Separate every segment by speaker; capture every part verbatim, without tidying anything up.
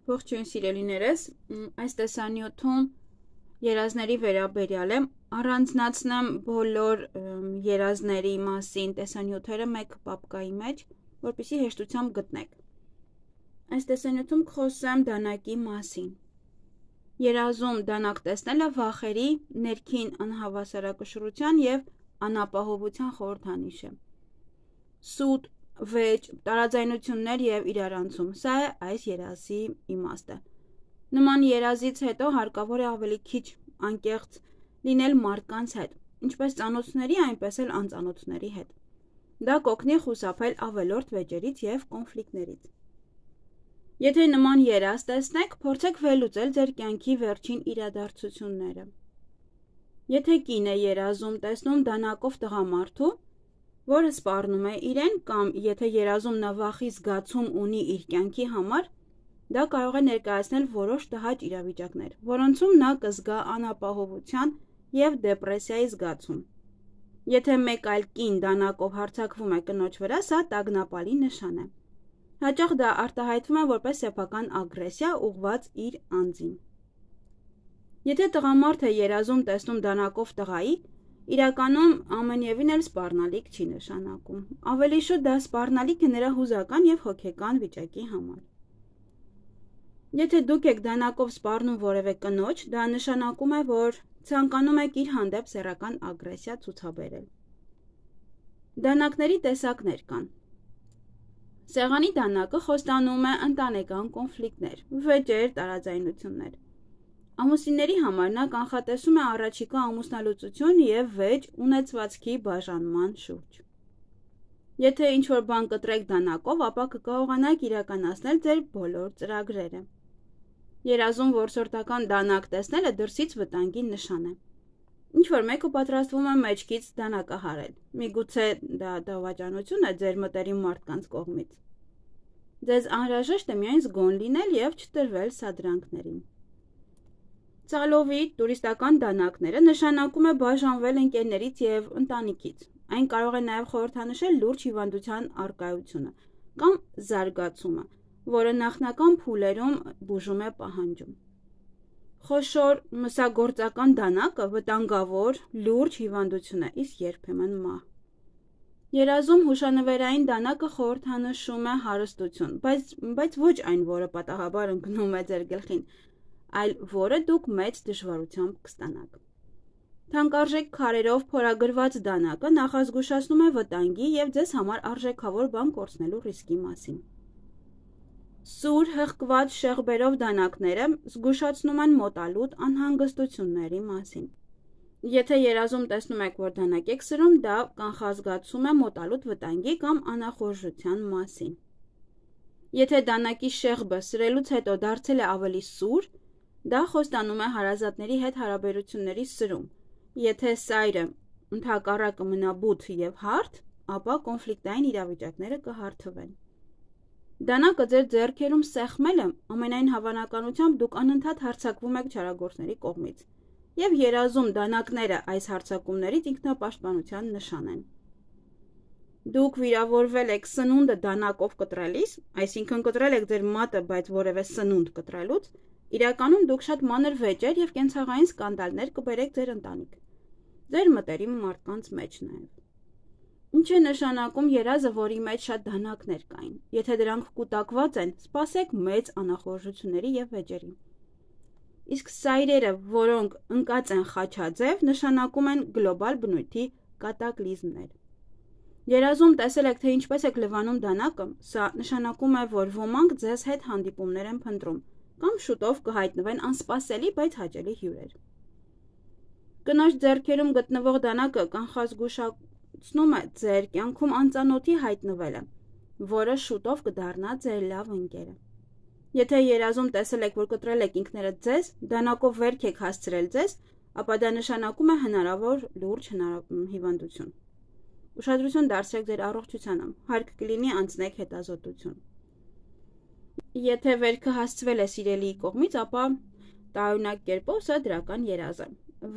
Speaker 1: Ողջույն սիրելիներս, այս տեսանյութում երազների վերաբերյալ եմ, առանձնացնեմ բոլոր երազների մասին տեսանյութերը մեկ պապկայի մեջ, որպեսզի հեշտությամբ գտնեք։ Այս տեսանյութում կխոսեմ դանակի մասին։ Երազում դանակ տեսնելը վախերի, ներքին անհավասարակշռության և անապահովության խորհրդանիշ է։ Սուտ, վեճ, տարաձայնություններ և իրարանցում, սա է այս երազի իմաստը։ Նման երազից հետո հարկավոր է ավելի քիչ անկեղծ լինել մարդկանց հետ, ինչպես ծանոթների, այնպես էլ անծանոթների հետ։ Դա կօգնի խուսափել ավելորդ վեճերից և կոնֆլիկտներից։ Եթե նման երազ տեսնեք, փորձեք վերլուծել ձեր կյանքի վերջին իրադարձությունները։ Եթե կին է երազում տեսնում դանակով տղամարդու, որը սպառնում է իրեն, կամ եթե երազում նա վախի զգացում ունի իր կյանքի համար, դա կարող է ներկայացնել որոշ տհաճ իրավիճակներ, որոնցում նա կզգա անապահովության և դեպրեսիայի զգացում։ Եթե մեկ այլ կին դանակով հարձակվում է կնոջ վրա, սա տագնապալի նշան է։ Հաճախ դա արտահայտվում է որպես սեփական ագրեսիա ուղղված իր անձին։ Եթե տղամարդ է երազում տեսնում դանակով տղայի, իրականում ամենևին էլ սպառնալիք չի նշանակում։ Ավելի շուտ դա սպառնալիք է նրա հուզական և հոգեկան վիճակի համար։ Եթե դուք եք դանակով սպառնում որևէ կնոջ, դա նշանակում է, որ ցանկանում եք իր հանդեպ սեռական ագրեսիա ցուցաբերել։ Դանակների տեսակներ կան։ Սեղանի դանակը խոստանում է ընտանեկան կոնֆլիկտներ, վեճեր, տարաձայնություններ։ Ամուսինների համար նա կանխատեսում է առաջիկա ամուսնալուծություն և վեճ ունեցվածքի բաժանման շուրջ։ Եթե ինչ-որ բան կտրեք դանակով, ապա կկարողանաք իրականացնել ձեր բոլոր ծրագրերը։ Երազում որսորդական դանակ տեսնելը դրսից վտանգի նշան է։ Ինչ-որ մեկը պատրաստվում է մեջքից դանակահարել, միգուցե դա դավաճանություն է ձեր մտերիմ մարդկանց կողմից։ Ձեզ անհրաժեշտ է միայն զգոն լինել և չտրվել սադրանքներին։ Ծալովի տուրիստական դանակները նշանակում է բաժանվել ընկերներից և ընտանիքից։ Այն կարող է նաև խորհրդանշել լուրջ հիվանդության առկայությունը կամ զարգացումը, որը նախնական փուլերում բուժում է պահանջում։ Խոշոր մսագործական դանակը վտանգավոր, լուրջ հիվանդություն է, իսկ երբեմն մահ։ Երազում հուշանվերային դանակը խորհրդանշում է հարստություն, բայց, բայց ոչ այն, որը պատահաբար ընկնում է ձեր գլխին, այլ որը դուք մեծ դժվարությամբ կստանաք։ Թանկարժեք քարերով փորագրված դանակը նախազգուշացնում է վտանգի և ձեզ համար արժեքավոր բան կորցնելու ռիսկի մասին։ Սուր հղկված շեղբերով դանակները զգուշացնում են մոտալուտ անհանգստությունների մասին։ Եթե երազում տեսնում եք, որ դանակ եք սրում, դա կանխազգացում է մոտալուտ վտանգի կամ անախորժության մասին։ Եթե դանակի շեղբը սրելուց հետո դարձել է ավելի սուր, դա խոստանում է հարազատների հետ հարաբերությունների սրում։ Եթե սայրը ընդհակառակը մնա բութ և հարթ, ապա կոնֆլիկտային իրավիճակները կհարթվեն։ Դանակը ձեր ձեռքերում սեղմելը ամենայն հավանականությամբ դուք անընդհատ հարձակվում եք չարագործների կողմից, և երազում դանակները այս հարձակումներից ինքնապաշտպանության նշան են։ Դուք վիրավորվել եք սնունդը դանակով կտրելիս, այսինքն կտրել եք ձեր մատը, բայց որևէ սնունդ կտրելուց, իրականում դուք շատ մանր վեճեր և կենցաղային սկանդալներ կբերեք ձեր ընտանիք, ձեր մտերիմ մարդկանց մեջ նաև։ Ինչ է նշանակում երազը, որի մեջ շատ դանակներ կային։ Եթե դրանք կուտակված են, սպասեք մեծ անախորժությունների և վեճերի։ Իսկ սայրերը, որոնք ընկած են խաչաձև, նշանակում են գլոբալ բնույթի կատակլիզմներ։ Երազում տեսել եք, թե ինչպես եք լվանում դանակը, սա նշանակում է, որ ոմանք ձեզ հետ հանդիպումներ են փնտրում, կամ շուտով կհայտնվեն անսպասելի, բայց հաճելի հյուրեր։ Կնոջ ձեռքերում գտնվող դանակը կանխազգուշացնում է ձեր կյանքում անծանոթի հայտնվելը, որը շուտով կդառնա ձեր լավ ընկերը։ Եթե երազում տեսել եք, որ կտրել եք ինքներդ ձեզ, դանակով վերք եք հասցրել ձեզ, ապա դա նշանակում է հնարավոր լուրջ հիվանդություն։ Ուշադրություն դարձրեք ձեր առողջությանը, հարկ կլինի անցնեք հետազոտություն։ Եթե վերքը հասցվել է սիրելիի կողմից, ապա տարօրինակ կերպով սա դրական երազ է,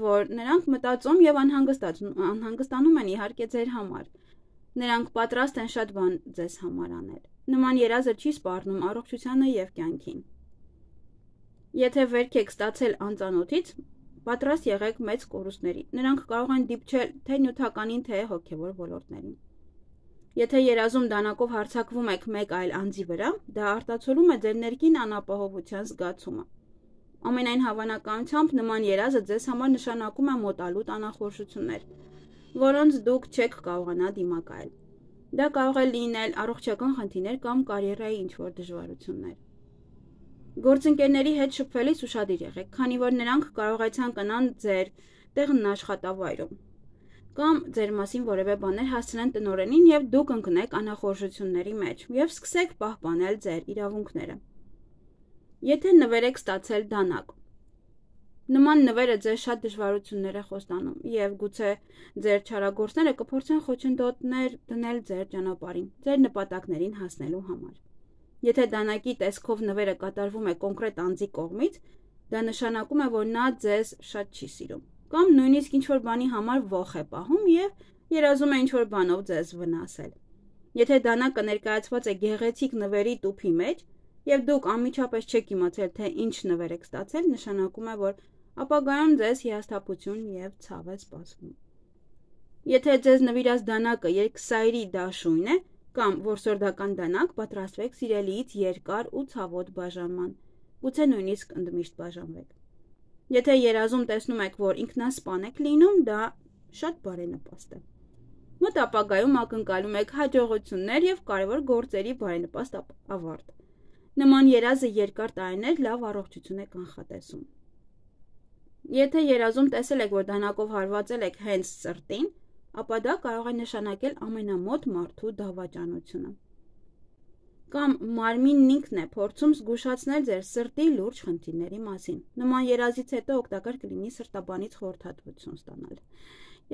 Speaker 1: որ նրանք մտածում և անհանգստանում են իհարկե ձեր համար։ Նրանք պատրաստ են շատ բան ձեզ համար անել։ Նման երազը չի սպառնում առողջությանը և կյանքին։ Եթե վերք եք ստացել անծանոթից, պատրաստ եղեք մեծ կորուստների, նրանք կարող են դիպչել թե նյութականին, թե հոգևոր ոլորտներին։ Եթե երազում դանակով հարձակվում եք մեկ այլ անձի վրա, դա արտացոլում է ձեր ներքին անապահովության զգացումը։ Ամենայն հավանականությամբ նման երազը ձեզ համար նշանակում է մոտալուտ անախորժություններ, որոնց դուք չեք կարողանա դիմակայել։ Դա կարող է լինել առողջական խնդիրներ կամ կարիերայի ինչ-որ դժվարություններ։ Գործընկերների հետ շփվելիս ուշադիր եղեք, քանի որ նրանք կարող է ցանկանան ձեր տեղն աշխատավայրում կամ ձեր մասին որևէ բաներ հասցնեն տնօրենին եւ դուք ընկնեք անախորժությունների մեջ եւ սկսեք պահպանել ձեր իրավունքները։ Եթե նվեր եք ստացել դանակ, նման նվերը ձեզ շատ դժվարություններ է խոստանում եւ գուցե ձեր չարագործները կփորձեն խոչընդոտներ դնել ձեր ճանապարհին, ձեր նպատակներին հասնելու համար։ Եթե դանակի տեսքով նվերը կատարվում է կոնկրետ անձի կողմից, դա նշանակում է, որ նա ձեզ շատ չի սիրում, կամ նույնիսկ ինչ-որ բանի համար ոխ է պահում եւ երազում է ինչ-որ բանով ձեզ վնասել։ Եթե դանակը ներկայացված է գեղեցիկ նվերի տուփի մեջ եւ դուք անմիջապես չեք իմացել, թե ինչ նվեր եք ստացել, նշանակում է, որ ապագայում ձեզ հիասթափություն եւ ցավ է սպասվում։ Եթե ձեզ նվիրած դանակը երկսայրի դաշույն է կամ որսորդական դանակ, պատրաստվեք սիրելիից երկար ու ցավոտ բաժանման, գուցե նույնիսկ ընդմիշտ բաժանվեք։ Եթե երազում տեսնում եք, որ ինքնասպան եք լինում, դա շատ բարենպաստ է։ Մոտ ապագայում ակնկալում եք հաջողություններ եւ կարևոր գործերի բարենպաստ ավարտ։ Նման երազը երկար տարիներ լավ առողջություն է կանխատեսում։ Եթե երազում տեսել եք, որ դանակով հարվածել եք հենց սրտին, ապա դա կարող է նշանակել ամենամոտ մարդու դավաճանությունը։ Կամ մարմինն ինքն է փորձում զգուշացնել ձեր սրտի լուրջ խնդիրների մասին։ Նման երազից հետո օգտակար կլինի սրտաբանից խորհրդատվություն ստանալ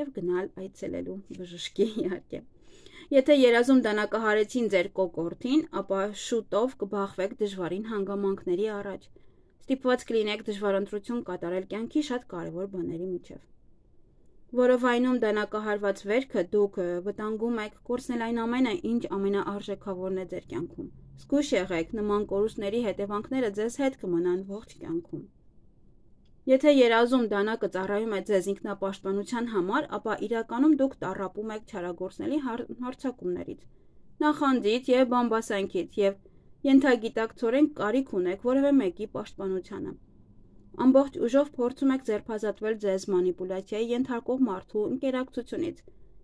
Speaker 1: եւ գնալ այցելելու բժշկի իհարկե։ Եթե երազում դանակահարեցին ձեր կոկորդին, ապա շուտով կբախվեք դժվարին հանգամանքների առաջ։ Ստիպված կլինեք դժվար ընտրություն կատարել կյանքի շատ կարևոր բաների միջև։ Որովայնում դանակահարված վերքը դուք վտանգում եք կորցնել այն ամենը, ինչ ամենաարժեքավորն է ձեր կյանքում։ Զգույշ եղեք, նման կորուստների հետևանքները ձեզ հետ կմնան ողջ կյանքում։ Եթե երազում դանակը ծառայում է ձեզ ինքնապաշտպանության համար, ապա իրականում դուք տառապում եք չարագործների հարձակումներից, նախանձից եւ բամբասանքից եւ ենթագիտակցորեն կարիք ունեք որևէ մեկի պաշտպանությանը։ Ամբողջ ուժով փորձում եք ձերբազատվել ձեզ մանիպուլյացիայի ենթարկող մարդու ընկերակցությունից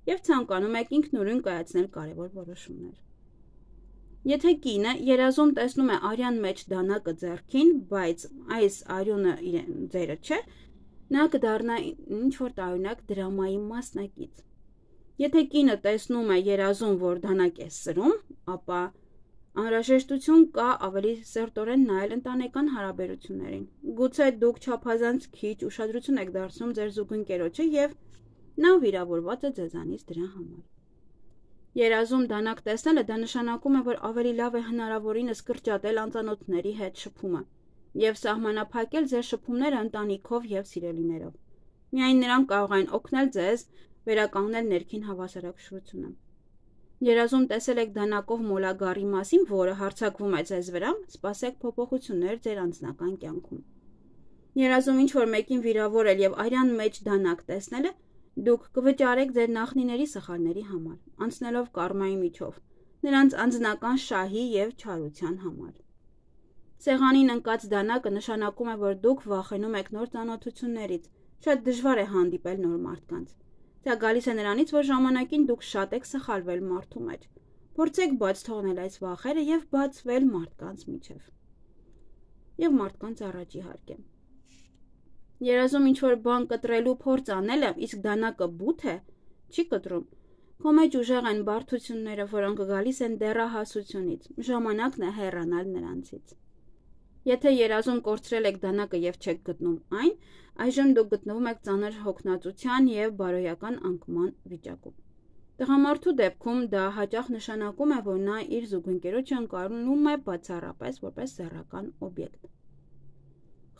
Speaker 1: եւ ցանկանում եք ինքնուրույն կայացնել կարևոր որոշումներ։ Եթե կինը երազում տեսնում է արյան մեջ դանակը ձեռքին, բայց այս արյունը ձերը չէ, նա կդառնա ինչ-որ տարօրինակ դրամայի մասնակից։ Եթե կինը տեսնում է երազում, որ դանակ է սրում, ապա անհրաժեշտություն կա ավելի սերտորեն նայել ընտանեկան հարաբերություններին։ Գուցե դուք չափազանց քիչ ուշադրություն եք դարձնում ձեր զուգընկերոջը եւ նա վիրավորված է ձեզանից դրա համար։ Երազում դանակ տեսնելը դա նշանակում է, որ ավելի լավ է հնարավորինս կրճատել անծանոթների հետ շփումը եւ սահմանափակել ձեր շփումները ընտանիքով եւ սիրելիներով։ Միայն նրանք կարող են օգնել ձեզ վերականգնել ներքին հավասարակշռությունը։ Երազում տեսել եք դանակով մոլագարի մասին, որը հարձակվում է ձեզ վրա, սպասեք փոփոխություններ ձեր անձնական կյանքում։ Երազում ինչ-որ մեկին վիրավորել եւ արյան մեջ դանակ տեսնելը դուք կվճարեք ձեր նախնիների սխալների համար, անցնելով կարմայի միջով, նրանց անձնական շահի եւ չարության համար։ Սեղանին ընկած դանակը նշանակում է, որ դուք վախենում եք նոր ծանոթություններից, շատ դժվար է հանդիպել նոր մարդկանց։ Դա գալիս է նրանից, որ ժամանակին դուք շատ եք սխալվել մարդու մեջ։ Փորձեք բաց թողնել այս վախերը եւ բացվել մարդկանց միջև։ Եվ մարդկանց առաջ իհարկե։ Երազում ինչ-որ բան կտրելու փորձ անելը, իսկ դանակը բութ է, չի կտրում։ Քո մեջ ուժեղ են բարդությունները, որոնք գալիս են դեռահասությունից։ Ժամանակն է հեռանալ նրանցից։ Եթե երազում կորցրել եք դանակը եւ չեք գտնում այն, այժմ դուք գտնվում եք ծանր հոգնածության եւ բարոյական անկման վիճակում։ Տղամարդու դեպքում դա հաճախ նշանակում է, որ նա իր զուգընկերոջը ընկալում է բացառապես որպես սեռական օբյեկտ։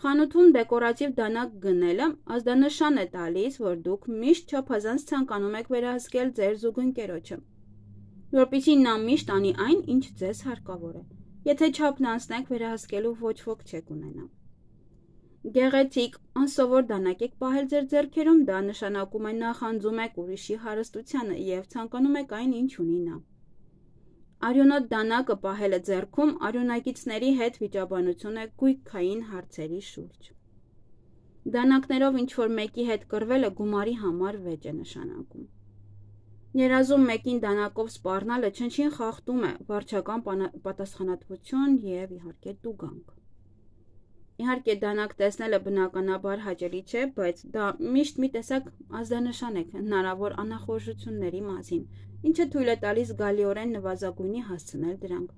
Speaker 1: Խանութում դեկորատիվ դանակ գնելը ազդանշան է տալիս, որ դուք միշտ չափազանց ցանկանում եք վերահսկել ձեր զուգընկերոջը, որպեսզի նա միշտ անի այն, ինչ ձեզ հարկավոր է։ Եթե չափն անցնեք, վերահսկելու ոչ ոք չեք ունենա։ գեղեցիկ, անսովոր դանակ եք պահել ձեր ձեռքերում, դա նշանակում է նախանձում եք ուրիշի հարստությանը և ցանկանում եք այն, ինչ ունի նա։ Արյունոտ դանակը պահելը ձեռքում արյունակիցների հետ վիճաբանություն է գույքային հարցերի շուրջ։ Դանակներով ինչ-որ մեկի հետ կռվելը գումարի համար վեճ է նշանակում։ Երազում մեկին դանակով սպառնալը չնչին խախտում է վարչական պատասխանատվություն և իհարկե տուգանք։ Իհարկե դանակ տեսնելը բնականաբար հաճելի չէ, բայց դա միշտ մի տեսակ ազդանշան է հնարավոր անախորժությունների մասին, ինչը թույլ է տալիս զգալիորեն նվազագույնի հասցնել դրանք։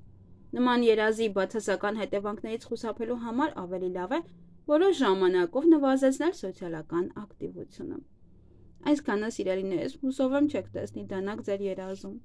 Speaker 1: Նման երազի բացասական հետևանքներից խուսափելու համար ավելի լավ է որոշ ժամանակով նվազեցնել սոցիալական ակտիվությունը։ Այսքանը, սիրելիներս, հուսով եմ չեք տեսնի դանակ ձեր երազում։